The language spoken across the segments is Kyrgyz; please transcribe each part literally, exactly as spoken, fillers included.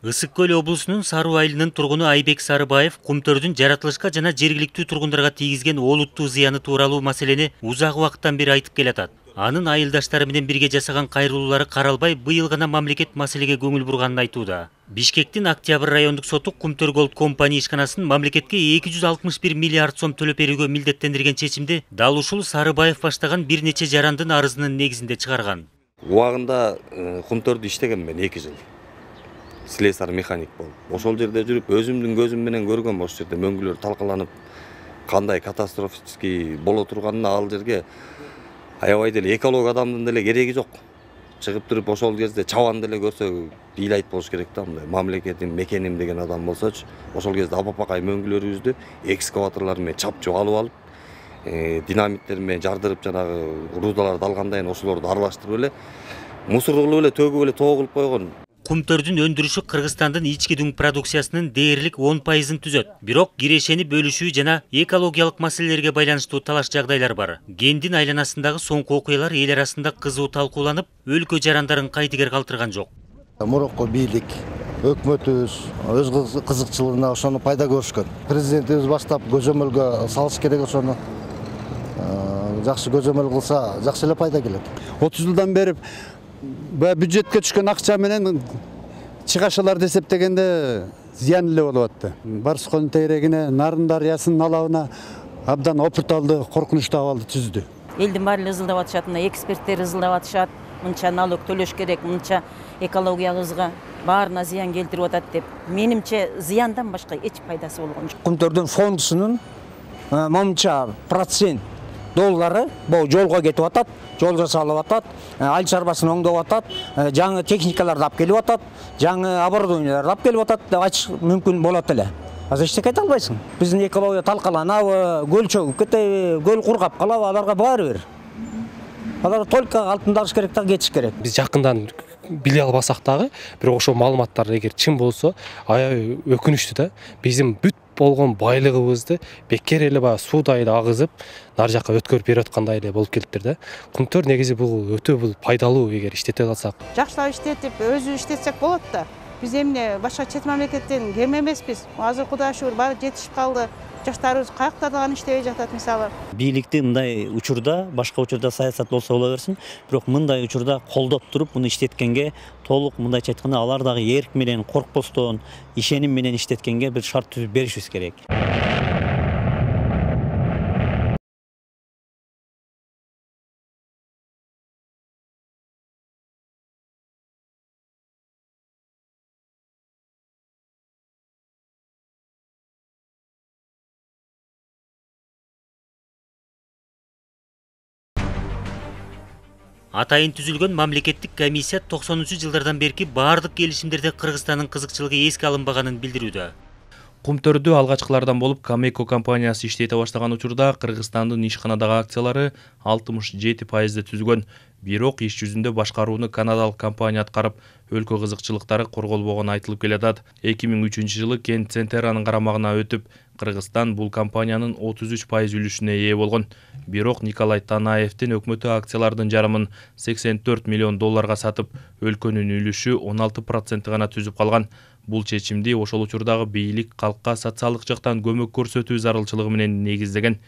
Ысык Көл облусунун Саруу айылынын тургуну Айбек Сарыбаев кумтөрдүн жаратылышка жана жергиликтүү тургундарга тийгизген олуттуу зыяны тууралуу маселени узак убакыттан бери айтып келатат. Анын айылдаштары менен бирге жасаган кайрылуулары каралбай, быйыл гана мамлекет маселеге көңүл бурганын айтууда. Бишкектин Октябрь райондук соту Кумтөр Голд компания ишканасын мамлекетке эки жүз алтымыш бир миллиард сом төлөп берүүгө милдеттендирген чечимди дал ушул Сарыбаев баштаган бир нече жарандын арызынын негизинде чыгарган. Убагында Кумтөрдү иштегем мен эки жыл. Слесар механик болуп. Ошол жерде жүрүп, өзүмдүн көзүм менен көргөм, ошол жерде мөңгүлөр талкаланып, кандай катастрофический боло турганын ал жерге аябай деле эколог адамдын деле кереги жок. Чыгып туруп ошол кезде чабан деле көрсө ыйлайт болуш керек да, мындай мамлекетим, мекеним деген адам болсочу, ошол кезде апапакай мөңгүлөрүбүздү экскаваторлор менен чапчуп алып алып, динамиттер менен жардырып, жанагы рудаларды алгандан кийин ошолорду аралаштырып эле мусор кылып эле төгүп эле тоо кылып койгон. Кумтөрдүн өндүрүшү Кыргызстандын ички дүң продукциясынын дээрлик он пайызын түзөт. Бирок кирешени бөлүшүү жана экологиялык маселелерге байланыштуу талаш жагдайлар бар. Кендин айланасындагы соңку окуялар эл арасында кызуу талкууланып, өлкө жарандарын кайтыгер калтырган жок. Мурунку бийлик, өкмөтүбүз өз кызыкчылыгына ошону пайда көрүшкөн. Президентибиз баштап көзөмөлгө салыш керек, ошону жакшы көзөмөл кылса, жакшы эле пайда келет. отуз жылдан бери бюджетке түшкөн акча менен чыгашаларды эсептегенде зыян эле болуп атты. Барсконун тегерегине, Нарын дарыясынын алабына абдан опурталды, коркунучтуу абалды түздү. Элдин баары ызылдап атышат, мына эксперттер ызылдап атышат, мынча налог төлөш керек, мынча экологиябызга баарына зыян келтирип атат деп. Менимче зыяндан башка эч пайдасы болгон жок. Кумтөрдүн фондусунун момунча процент доллары бул жолго кетип атат, жол жасалып атат, айыл чарбасын оңдоп атат, жаңы техникаларды алып келип атат, жаңы оборудованияларды алып келип атат деп айтыш мүмкүн болот эле. Азыр эчтеке айта албайсың. Биздин экология талкаланабы, көл чөгүп кетеби, көл кургап калабы, аларга баары бир. Алар только алтын алыш керек да кетиш керек. Биз жакындан биле албасак дагы, бирок ошол маалыматтар эгер чын болсо, аябай өкүнүчтүү да. Биздин бүт болгон байлыгыбызды бекер эле баягы суудай эле агызып, нар жакка өткөрүп берип аткандай эле болуп келиптир да. Кумтөр негизи бул өтө бул пайдалуу эгер иштете алсак. Жакшылап иштетип, өзү иштетсек болот да. Биз эмне башка чет мамлекеттен кем эмеспиз. Азыр Кудайга шүгүр баары жетишип калды. Жаштарыбыз каяктарда гана иштебей жатат мисалы. Бийликти мындай учурда, башка учурда саясат болсо боло берсин, бирок мындай учурда колдоп туруп, муну иштеткенге толук мындайча айтканда алар дагы эрк менен, коркпостон, ишеним менен иштеткенге бир шарт түзүп беришибиз керек. Атайын түзүлгөн мамлекеттик комиссия токсонунчу жылдардан берки баардык келишимдерде Кыргызстандын кызыкчылыгы эске алынбаганын билдирүүдө. Кумтөрдү алгачкылардан болуп Камеко компаниясы иштете баштаган учурда Кыргызстандын ишканадагы акциялары алтымыш жети пайызды түзгөн. Бирок иш жүзүндө башкарууну канадалык компания аткарып, өлкө кызыкчылыктары корголбогону айтылып келатат. эки миң үчүнчү жылы Кен Центеранын карамагына өтүп, Кыргызстан бул компаниянын отуз үч пайыз үлүшүнө ээ болгон. Бирок Николай Танаевдин өкмөтү акциялардын жарымын сексен төрт миллион долларга сатып, өлкөнүн үлүшү он алты процент гана түзүп калган. Бул чечимди ошол учурдагы бийлик калкка социалдык жактан көмөк көрсөтүү зарылчылыгы менен негиздеген.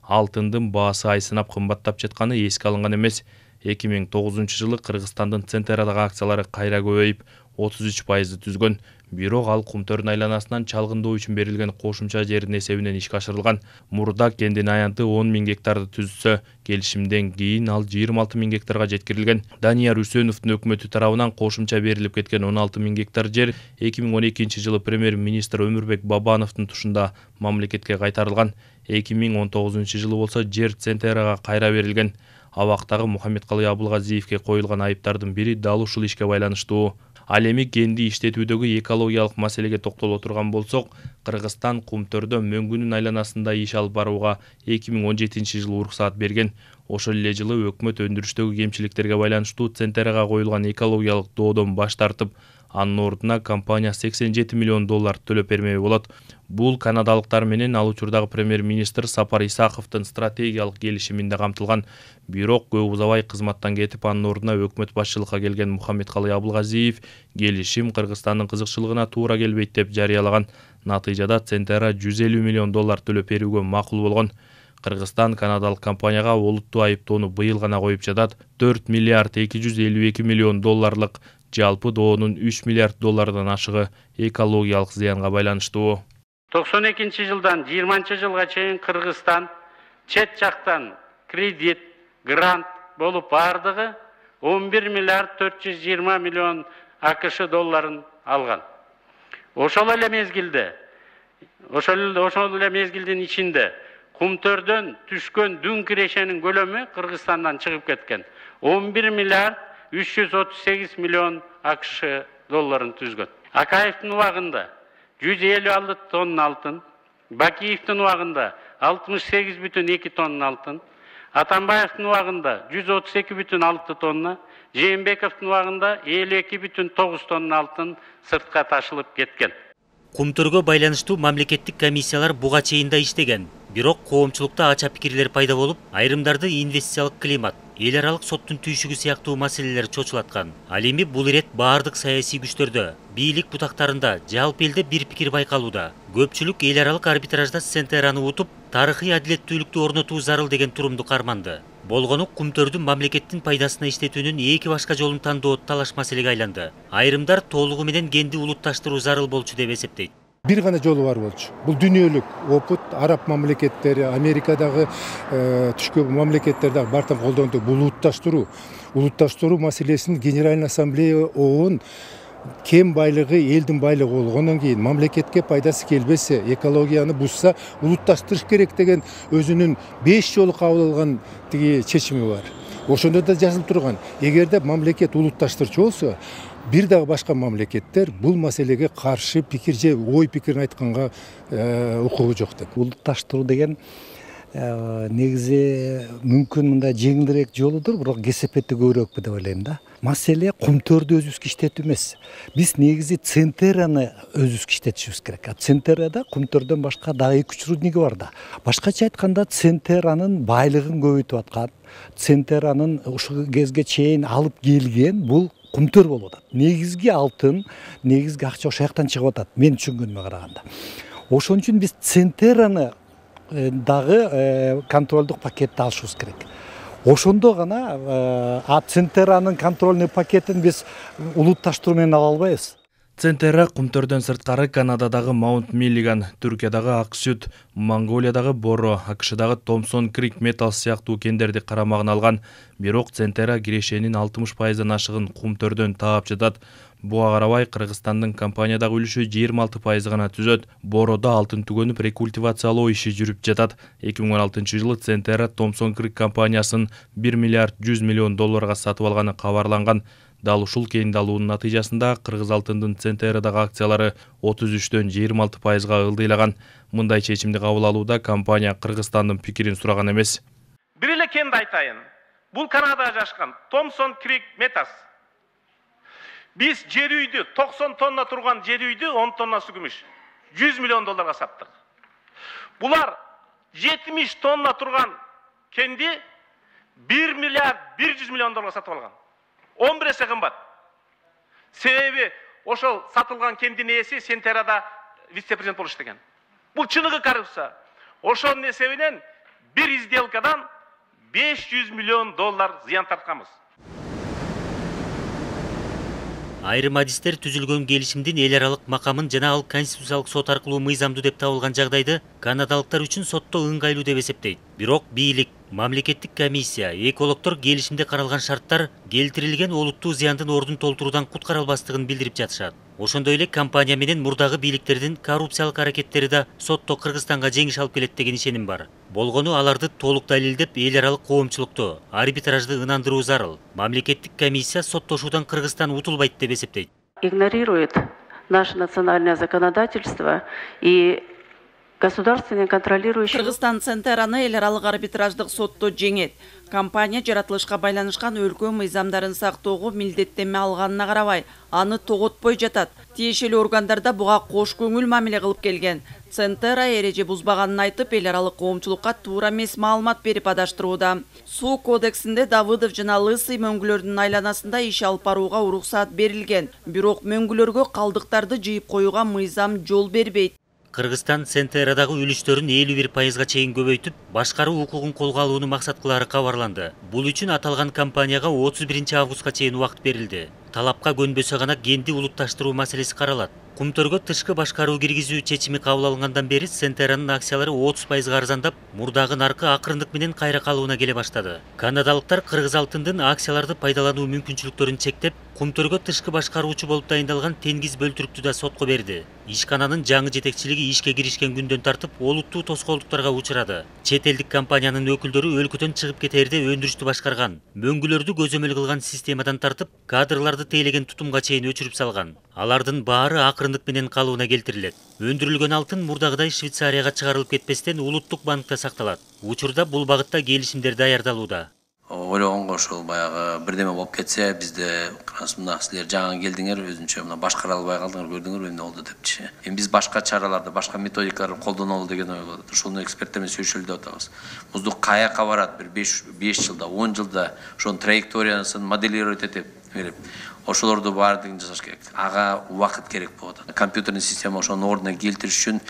Алтындын баасы ай сынап кымбаттап жатканы эске алынган эмес. эки миң тогузунчу жылы Кыргызстандын Центерадагы акциялары кайра көбөйүп, отуз үч пайызды түзгөн. Бирок ал Кумтөрдүн айланасынан чалгындоо үчүн берилген кошумча жердин эсебинен ишке ашырылган. Мурда кендин аянты он миң гектарды түзсө, келишимден кийин ал жыйырма алты миң гектарга жеткирилген. Данияр Үсөновдун өкмөтү тарабынан кошумча берилип кеткен он алты миң гектар жер эки миң он экинчи жылы премьер-министр Өмүрбек Бабановдун тушунда мамлекетке кайтарылган. эки миң он тогузунчу жылы болсо жер Центерага кайра берилген. Абактагы Мухаммедкалый Абылгазиевке коюлган айыптардын бири дал ушул ишке байланыштуу. Ал эми кенди иштетүүдөгү экологиялык маселеге токтоло турган болсок, Кыргызстан Кумтөрдө мөңгүнүн айланасында иш алып барууга эки миң он жетинчи жылы уруксаат берген. Ошол эле жылы өкмөт өндүрүштөгү кемчиликтерге байланыштуу Центерага коюлган экологиялык доодон баш тартып, Анын ордуна компания сексен жети миллион доллар төлөп бермек болот. Бул канадалыктар менен ал учурдагы премьер-министр Сапар Исаковдун стратегиялык келишиминде камтылган. Бирок көп узабай кызматтан кетип, анын ордуна өкмөт башчылыкка келген Мухаммедкалый Абылгазиев келишим Кыргызстандын кызыкчылыгына туура келбейт деп жарыялаган. Натыйжада Центера жүз элүү миллион доллар төлөп берүүгө макул болгон. Кыргызстан канадалык компанияга олуттуу айыптоону быйыл гана коюп жатат. төрт миллиард эки жүз элүү эки миллион долларлык жалпы доонун үч миллиард доллардан ашыгы экологиялык зыянга байланыштуу. токсон экинчи жылдан жыйырманчы жылга чейин Кыргызстан чет жактан кредит, грант болуп бардыгы он бир миллиард төрт жүз жыйырма миллион АКШ долларын алган. Ошол эле мезгилде, ошол ошол эле мезгилдин ичинде Кумтөрдөн түшкөн дүн кирешенин көлөмү Кыргызстандан чыгып кеткен. он бир миллиард үч жүз отуз сегиз миллион АКШ долларын түзгөн. Акаевдин убагында жүз элүү алты тонна алтын, Бакиевдин убагында алтымыш сегиз бүтүн эки тонна алтын, Атамбаевдин убагында жүз отуз эки бүтүн алты тонна, Жээнбековдун убагында элүү эки бүтүн тогуз тонна алтын сыртка ташылып кеткен. Кумтөргө байланыштуу мамлекеттик комиссиялар буга чейин да иштеген. Бирок коомчулукта ача пикирлер пайда болуп, айрымдарды инвестициялык климат, эл аралык соттун түйшүгү сыяктуу маселелер чочулаткан. Ал эми бул ирет баардык саясий күчтөрдө, бийлик бутактарында жалпы элде бир пикир байкалууда. Көпчүлүк эл аралык арбитражда Центераны утуп, тарыхый адилеттүүлүктү орнотуу зарыл деген турумду карманды. Болгону Кумтөрдүн мамлекеттин пайдасына иштетүүнүн эки башка жолун тандоо талаш маселеге айланды. Айрымдар толугу менен кенди улутташтыруу зарыл болчу деп эсептейт. Бир гана жолу бар болчу. Бул дүйнөлүк опыт, араб мамлекеттери, Америкадагы түшкөн мамлекеттер дагы бартын колдонду. Бул улутташтыруу, улутташтыруу маселесин Генеральный ассамблея ООН кем байлыгы элдин байлыгы болгондон кийин мамлекетке пайдасы келбесе, экологияны бузса, улутташтырыш керек деген өзүнүн беш жолу кабыл алган тиги чечими бар. Ошондо да жазылып турган. Эгерде мамлекет улутташтырчу болсо, бир дагы башка мамлекеттер бул маселеге каршы пикир же ой пикирин айтканга укугу жок деп. Улутташтыруу деген негизи мүмкүн мындай жеңилирээк жолудур, бирок кесепети көбүрөөкпү деп ойлойм да. Маселе Кумтөрдү өзүбүзгө иштетүү эмес. Биз негизи Центераны өзүбүзгө иштетишибиз керек. А Центерада Кумтөрдөн башка дагы эки үч рудниги бар да. Башкача айтканда Центеранын байлыгын көбөйтүп аткан, Центеранын ушул кезге чейин алып келген бул Кумтөр болуп атат. Негизги алтын, негизги акча ошол жактан чыгып атат, мен түшүнгөнүмө караганда. Ошон үчүн биз Центераны дагы контролдук пакетти алышыбыз керек. Ошондо гана а Центеранын контрольный пакетин биз улутташтыруу менен ала албайбыз. Центера Кумтөрдөн сырткары Канададагы Маунт Миллиган, Түркиядагы Аксүт, Монголиядагы Боро, АКШдагы Томсон Крик Металс сыяктуу кендерди карамагына алган. Бирок Центера кирешенин алтымыш пайыздан ашыгын Кумтөрдөн таап жатат. Буга карабай Кыргызстандын компаниядагы үлүшү жыйырма алты пайыз гана түзөт. Бороодо алтын түгөнүп рекультивациялоо иши жүрүп жатат. эки миң он алтынчы жылы Центера Томсон Крик компаниясын бир миллиард жүз миллион долларга сатып алганы кабарланган. Дал ушул кенди алуунун натыйжасында Кыргыз алтындын Центерадагы акциялары отуз үчтөн жыйырма алты пайызга ылдыйлаган. Мындай чечимди кабыл алууда компания Кыргызстандын пикирин сураган эмес. Бир эле кенди айтайын. Бул Канадада жашкан Томсон Крик Металс. Биз жер үйдү, токсон тонна турган жер үйдү он тоннасы күмүш, жүз миллион долларга саттык. Булар жетимиш тонна турган кенди бир миллиард бир жүз миллион долларга сатып алган. он бир эсе кымбат. Себеби ошол сатылган кендин ээси Центерада вице-президент болуп иштеген. Бул чыныгы коррупция. Ошонун эсебинен бир сделкадан беш жүз миллион доллар зыян тартканбыз. Айрым адистер түзүлгөн келишимдин эл аралык макамын жана ал конституциялык сот аркылуу мыйзамдуу деп табылган жагдайды канадалыктар үчүн сотто ыңгайлуу деп эсептейт. Бирок бийлик, мамлекеттик комиссия, экологдор келишимде каралган шарттар келтирилген олуттуу зыяндын ордун толтуруудан куткара албастыгын билдирип жатышат. Ошондой эле компания менен мурдагы бийликтердин коррупциялык аракеттери да сотто Кыргызстанга жеңиш алып келет деген ишеним бар. Болгону аларды толук далилдеп эл аралык коомчулукту, арбитражды ынандыруу зарыл. Мамлекеттик комиссия соттошуудан Кыргызстан утулбайт деп эсептейт. Игнорирует наше национальное законодательство и государственный контролирующий. Кыргызстан Центераны эл аралык арбитраждык сотто жеңет. Компания жаратылышка байланышкан өлкө мыйзамдарын сактоого милдеттенме алганына карабай, аны тоготпой жатат. Тиешелүү органдарда буга кош көңүл мамиле кылып келген. Центера эреже бузбаганын айтып, эл аралык коомчулукка туура эмес маалымат берип адаштырууда. Суу кодексинде Давыдов жана Лысый мөңгүлөрдүн айланасында иш алып барууга уруксаат берилген. Бирок мөңгүлөргө калдыктарды жыйып коюуга мыйзам жол бербейт. Кыргызстан Центерадагы үлүштөрүн элүү бир пайызга чейин көбөйтүп, башкаруу укугун колго алууну максат кылары кабарланды. Бул үчүн аталган компанияга отуз биринчи августка чейин убакыт берилди. Талапка көнбөсө гана кенди улутташтыруу маселеси каралат. Кумтөргө тышкы башкаруу киргизүү чечими кабыл алынгандан бери Центеранын акциялары отуз пайызга арзандап, мурдагы наркы акырындык менен кайра калыбына келе баштады. Канадалыктар Кыргыз алтындын акцияларды пайдалануу мүмкүнчүлүктөрүн чектеп, Кумтөргө тышкы башкаруучу болуп дайындалган Тенгиз Бөлтүрүктү да сотко берди. Ишкананын жаңы жетекчилиги ишке киришкен күндөн тартып олуттуу тоскоолдуктарга учурады. Чет элдик компаниянын өкүлдөрү өлкөдөн чыгып кетерде өндүрүштү башкарган. Мөңгүлөрдү көзөмөл кылган системадан тартып, кадрларды тейлеген тутумга чейин өчүрүп салган. Алардын баары акырындык менен калыбына келтирилет. Өндүрүлгөн алтын мурдагыдай Швейцарияга чыгарылып кетпестен улуттук банкта сакталат. Учурда бул багытта келишимдер даярдалууда. Ойлогонго ошол баягы бирдеме болуп кетсе, бизде мына силер жаңы келдиңер, өзүнчө мына башкара албай калдыңар, көрдүңөр эмне болду депчи. Эми биз башка чараларды, башка методикаларды колдонолу деген ой болот. Ошону эксперттер менен сүйлөшөлү деп атабыз. Муздук каяка барат, бир беш жылда, он жылда ошонун траекториясын моделировать этип берип, ошолорду баардыгын жасаш керек. Ага убакыт керек болот. Компьютерный система ошонун ордуна келтириш үчүн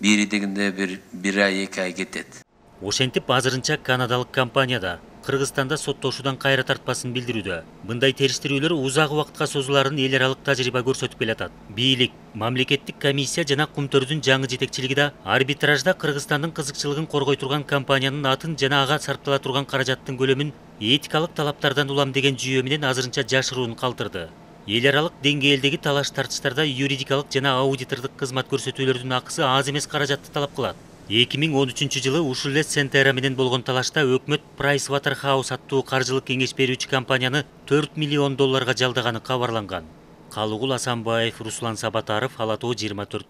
бири дегенде бир бир ай, эки ай кетет. Ошентип азырынча канадалык компанияда Кыргызстанда соттошуудан кайра тартпасын билдирүүдө. Мындай териштирүүлөр узак убакытка созуларын эл аралык тажрыйба көрсөтүп келатат. Бийлик, мамлекеттик комиссия жана Кумтөрдүн жаңы жетекчилиги да арбитражда Кыргызстандын кызыкчылыгын коргой турган компаниянын атын жана ага сарптала турган каражаттын көлөмүн этикалык талаптардан улам деген жүйө менен азырынча жашыруун калтырды. Эл аралык деңгээлдеги талаш тартыштарда юридикалык жана аудитордук кызмат көрсөтүүлөрдүн акысы аз эмес каражатты талап кылат. эки миң он үчүнчү жылы ушул эле Центера менен болгон талашта өкмөт Price Waterhouse аттуу каржылык кеңеш берүүчү компанияны төрт миллион долларга жалдаганы кабарланган. Калыгул Асанбаев, Руслан Сабатаров, Ала Тоо жыйырма төрт.